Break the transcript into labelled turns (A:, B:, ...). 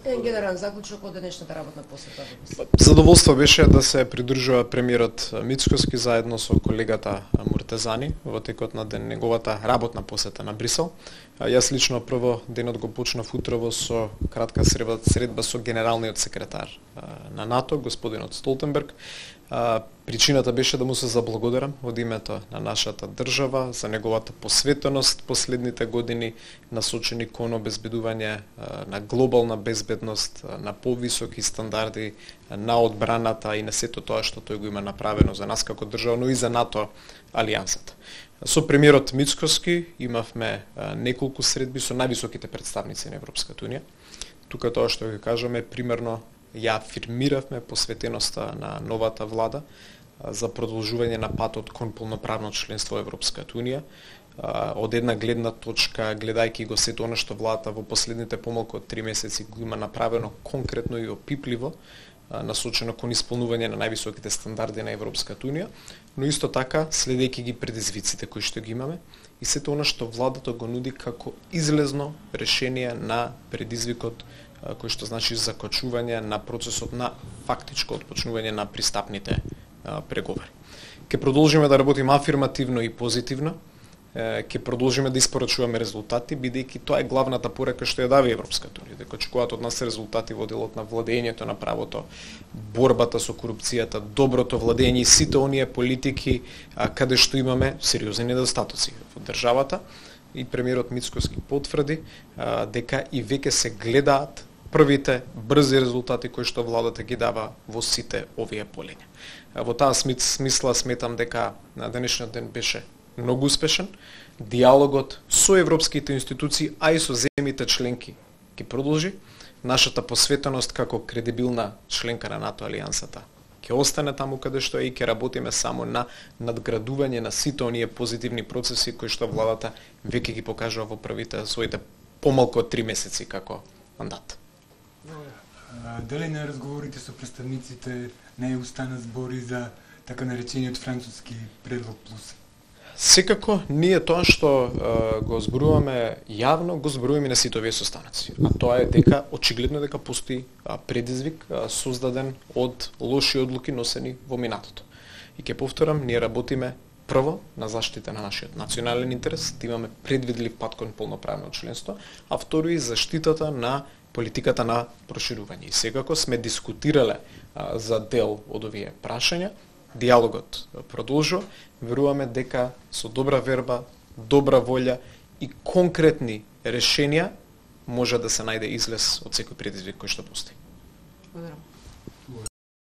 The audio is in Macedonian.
A: Генерален заклучок од денешната работна посета.
B: Задоволство беше да се придружува премиерот Мицкоски заедно со колегата Муртезани во текот на неговата работна посета на Брисел. Јас лично прво денот го почнав утрово со кратка средба со генералниот секретар на НАТО, господинот Столтенберг. Причината беше да му се заблагодарам од името на нашата држава за неговата посветеност последните години насочени кон обезбедување на глобална безбедност, на повисоки стандарди на одбраната и на сето тоа што тој го има направено за нас како држава, но и за НАТО алијансата. Со премиерот Мицкоски имавме неколку средби со највисоките представници на Европската унија. Тука тоа што ќе кажаме примерно ја афирмиравме посветеноста на новата влада за продолжување на патот кон полноправно членство во Европската унија. Од една гледна точка, гледајќи го сето она што владата во последните помалку од 3 месеци го има направено конкретно и опипливо, насочено кон исполнување на највисоките стандарди на Европската унија, но исто така следејќи ги предизвиците кои што ги имаме и сето она што владата го нуди како излезно решение на предизвикот кој што значи закочување на процесот на фактичко отпочнување на пристапните преговори. Ке продолжиме да работиме афирмативно и позитивно, ке продолжиме да испорачуваме резултати, бидејќи тоа е главната порека што ја дава Европската унија, дека очекуваат од нас резултати во делот на владењето на правото, борбата со корупцијата, доброто владење и сите оние политики каде што имаме сериозни недостатоци во државата. И премиерот Мицкоски потврди дека и веќе се гледаат првите брзи резултати кои што владата ги дава во сите овие полиња. Во таа смисла сметам дека на денешниот ден беше многу успешен. Диалогот со европските институции, а и со земјите членки ќе продолжи. Нашата посветеност како кредибилна членка на НАТО алијансата ќе остане таму каде што е и ќе работиме само на надградување на сите оние позитивни процеси кои што владата веќе ги покажува во првите своите помалку од 3 месеци како мандат.
C: Дали на разговорите со представниците не устана збори за така наречениот француски предлог плюс?
B: Секако, ние тоа што го зборуваме јавно, го зборуваме на сите овие состаноци. А тоа е дека очигледно дека постои предизвик создаден од лоши одлуки носени во минатото. И ќе повторам, ние работиме прво на заштита на нашиот национален интерес, да имаме предвидлив пат кон полноправно членство, а второ и заштитата на политиката на проширување. И секако сме дискутирале за дел од овие прашања. Диалогот продолжува. Веруваме дека со добра верба, добра волја и конкретни решенија може да се најде излез од секој предизвик кој што постои.
A: Благодарам.